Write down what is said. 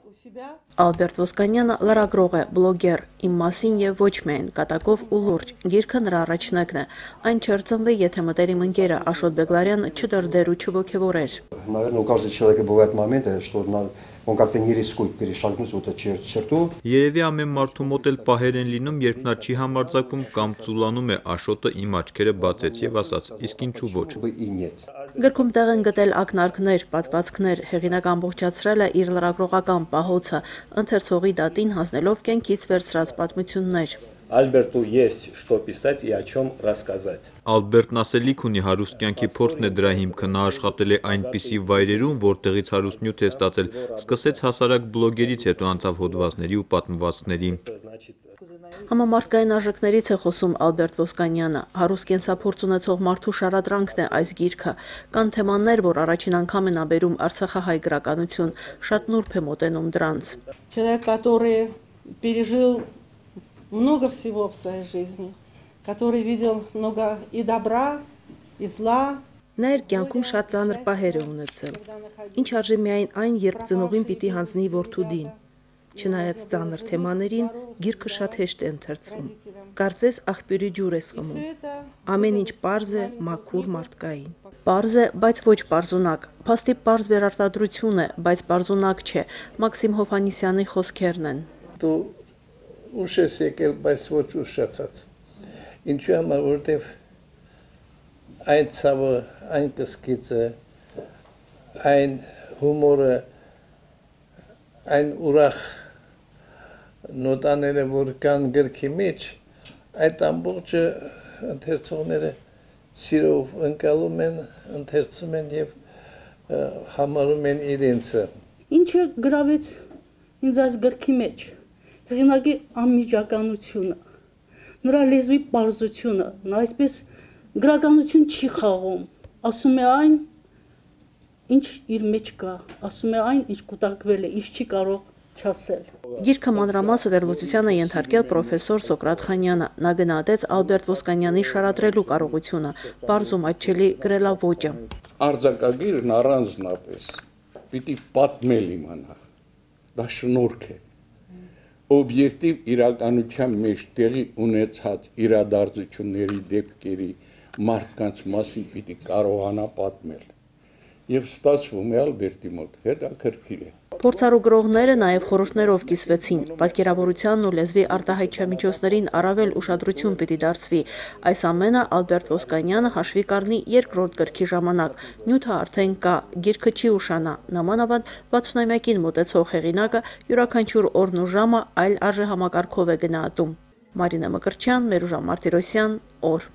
Ալբերտ Ոսկանյանը լրագրող է, բլոգեր, իմ մասին եւ ոչ միայն, կատակով ու լուրջ, գիրքը նրա առաջնակն է, այն չէր ծնվի, եթե մտերիմ ընկերը Աշոտ Բեգլարյանը չդրդեր ու չոգևորեր։ Наверное, у каждого человека бывают моменты, что он как-то не рискует перешагнуть вот эту черту. Երևի ամեն մարդու մոտ էլ պահեր են լինում, երբ նա չի համարձակվում կամ ծուլանում է, Աշոտը իմ աչքերը բացեց եւ ասաց. իսկ ինչու ոչ։ Գրքում տեղ են գտել ակնարկներ, պատմվածքներ, հեղինակ ամբողջացրել է իր լրագրողական պահոցը, ընթերցողի դատին հանձնելով կյանքից վերցրած պատմություններ։ Ալբերտու есть что писать и о чем рассказать։ Ալբերտն ասելիք ունի, հարուստ կյանքի փորձն է դրա հիմքը, նա աշխատել է այնպիսի վայրերում, որտեղից հարուստ նյութ է ստացել, սկսեց հասարակ բլոգերից, հետո անցավ հոդվածների ու պատմվածքների։ Համամարտկային արժեքներից է խոսում Ալբերտ Ոսկանյանը, հարուստ կենսափորձ ունեցող մարդու շարադրանքն է այս գիրքը, կան թեմաներ, որ առաջին անգամ ենաբերում արցախահայ գրականություն, շատ նուրբ է մոտենում դրանց։ Человек, который пережил много всего в своей жизни, который видел много и добра, и зла. Նա իր կյանքում շատ ծանր պահեր է ունեցել։ Ինչ արժի միայն այն, երբ ծնողին պիտի հանձնի որդուդին։ Չնայած ծանր թեմաներին, գիրքը շատ հեշտ է ընթերցվում։ Կարծես աղբյուրի ջուր ես խմում։ Ամեն ինչ պարզ է, մաքուր, մարդկային։ Պարզ է, բայց ոչ պարզունակ։ Փաստի պարզ վերարտադրություն է, բայց պարզունակ չէ։ Մաքսիմ Հովհաննիսյանի խոսքերն են։ Դու ուշ ես եկել, բայց ոչ ուշացած։ Ինչու համար, որտեվ այն ցավը, այն կսկիծը, այն հումորը, այն ուրախ նոտաները, որ կան գրքի մեջ, այդ ամբողջը ընթերցողները սիրով ընկալում են, ընթերցում են եւ համարում են իրենցը։ Ինչը գրավեց ինձ այս գրքի մեջ, հեղինակի անմիջականությունը, նրա լեզվի պարզությունը, նա այսպես գրականություն չի խաղում, ասում է այն, ինչ իր մեջ կա, ասում է այն, ինչ կուտակվել է, ինչ չի կարող չասել։ Գիրքը մանրամասը վերլուծության է ենթարկել պրոֆեսոր Սոկրատ Խանյանը, նա գնահատեց Ալբերտ Ոսկանյանի շարադրելու կարողությունը, պարզ ու մատչելի գրելաոճը։ Արձակագիրն առանձնապես պիտի պատմել իմանա, դա շնորհք է։ Օբյեկտիվ իրականության մեջ տեղի ունեցած իրադարձությունների դեպքերի մարդկանց մասին պիտի կարողանա պատմել։ Եվ ստացվում է Ալբերտի մոտ, հետաքրքիր է։ Փորձառու գրողները նաև խորհուրդներով կիսվեցին, պատկերավորությանն ու լեզվի արտահայտչամիջոցներին առավել ուշադրություն պիտի դարձվի։ Այս ամենը Ալբերտ Ոսկանյանը հաշվի կառնի երկրորդ գրքի ժամանակ։ Նյութը արդեն կա, գիրքը չի ուշանա, նամանավանդ 60-ամյակին մոտեցող հեղինակը յուրաքանչյուր օրն ու ժամը այլ արժեհամակարգով է գնահատում։ Մարինա Մկրտչյան, Մերուժան Մարտիրոսյան, օր։